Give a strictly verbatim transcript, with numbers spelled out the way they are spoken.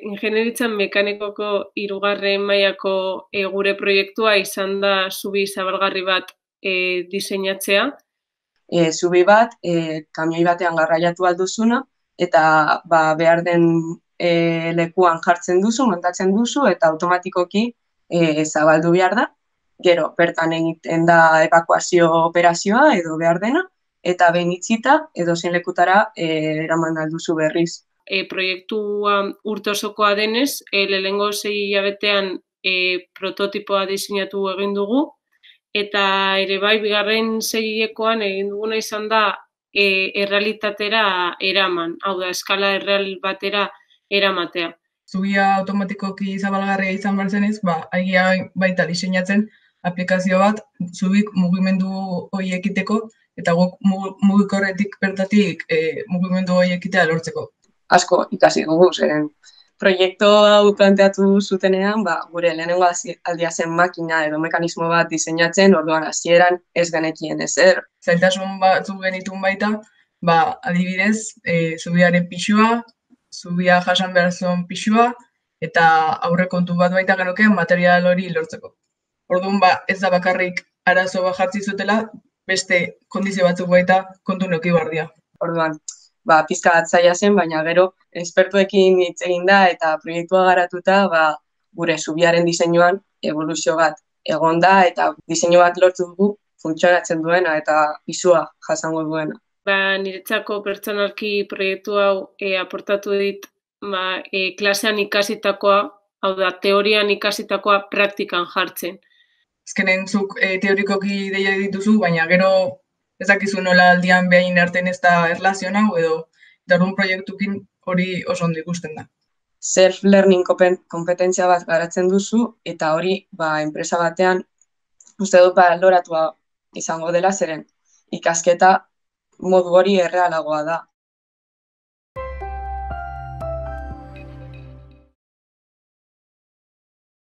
Ingeniaritzan mekanikoko hirugarren mailako e, gure proiektua izan da zubi zabalgarri bat e, diseinatzea. E, zubi bat, e, kamioi batean garraiatu alduzuna, eta ba, behar den e, lekuan jartzen duzu, montatzen duzu, eta automatikoki e, zabaldu behar da. Gero, bertan egiten da evakuazio operazioa edo behar dena, eta behin itzita edo zein lekutara e, eraman alduzu berriz. E, proiektua urte osokoa denez, e, lehenengo sei hilabetean e, prototipoa diseinatu egin dugu, eta ere bai bigarren segilekoan egin duguna izan da e, errealitatera eraman, hau da, eskala erreal batera eramatea. Zubia automatikoki zabalgarria izan behar zenez, ba, agia baita diseinatzen aplikazio bat, zubik mugimendu hori ekiteko, eta guk mugikorretik bertatik e, mugimendu hori ekitea lortzeko. Asko ikasi dugu, zeren proiektu hau planteatu zutenean, ba, gure lehenengo aldia zen makina edo mekanismo bat diseinatzen, orduan hasieran ez genekien ezer. Zailtasun batzuk genitun baita, ba, adibidez, e, zubiaren pixua, zubia jasan behar zuen pixua, eta aurrekontu bat baita genukeen material hori lortzeko. Orduan, ba, ez da bakarrik arazo bat jartzi zutela, beste kondizio batzuk baita kontu neuki bardia. Orduan, ba, pizka bat zaila zen, baina gero espertuekin hitz egin da eta proiektua garatuta, ba, gure zubiaren diseinuan eboluzio bat egon da eta diseinu bat lortu dugu funtzionatzen duena eta pisua jasango duena. Ba, niretzako pertsonalki proiektu hau e, aportatu dit ba, e, klasean ikasitakoa, hau da, teorian ikasitakoa praktikan jartzen. Azkenen zuk e, teorikoki deia dituzu, baina gero ez dakizu nola aldian behin artean ez da erlazioan hau edo darun proiektukin hori oso ondo ikusten da. Self-learning kompetentzia bat garatzen duzu eta hori ba, enpresa batean uste dut ba, loratua izango dela zeren ikasketa modu hori errealagoa da.